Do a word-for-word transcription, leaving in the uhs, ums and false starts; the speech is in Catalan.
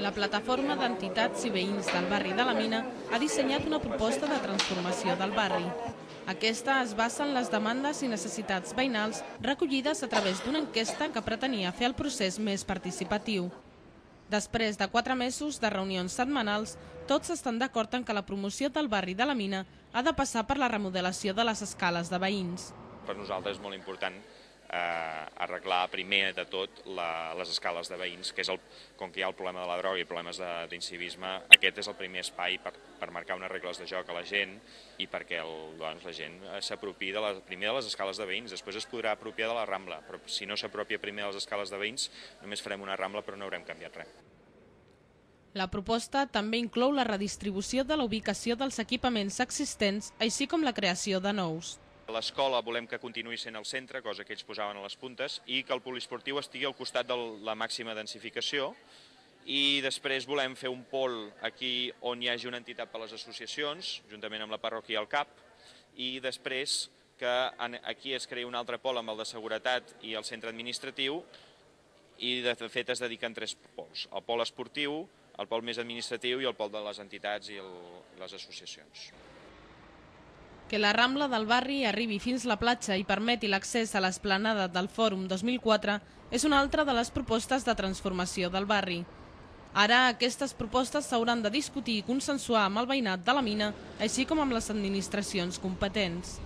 La plataforma d'entitats i veïns del barri de la Mina ha dissenyat una proposta de transformació del barri. Aquesta es basa en les demandes i necessitats veïnals recollides a través d'una enquesta que pretenia fer el procés més participatiu. Després de quatre mesos de reunions setmanals, tots estan d'acord en que la promoció del barri de la Mina ha de passar per la remodelació de les escales de veïns. Per nosaltres és molt important eh, arreglar primer de tot la, les escales de veïns, que és el, com que hi ha el problema de la droga i problemes d'incivisme, aquest és el primer espai per, per marcar unes regles de joc a la gent i perquè el, doncs, la gent s'apropi de la, primer de les escales de veïns, després es podrà apropiar de la Rambla, però si no s'apropia primer de les escales de veïns només farem una Rambla però no haurem canviat res. La proposta també inclou la redistribució de la ubicació dels equipaments existents, així com la creació de nous. L'escola volem que continuï sent al centre, cosa que ells posaven a les puntes, i que el poliesportiu estigui al costat de la màxima densificació. I després volem fer un pol aquí on hi hagi una entitat per a les associacions, juntament amb la parròquia i el C A P, i després que aquí es creï un altre pol amb el de seguretat i el centre administratiu, i de fet es dediquen tres pols, el pol esportiu, el pol més administratiu i el pol de les entitats i el, les associacions. Que la Rambla del barri arribi fins la platja i permeti l'accés a l'esplanada del Fòrum dos mil quatre és una altra de les propostes de transformació del barri. Ara aquestes propostes s'hauran de discutir i consensuar amb el veïnat de la Mina, així com amb les administracions competents.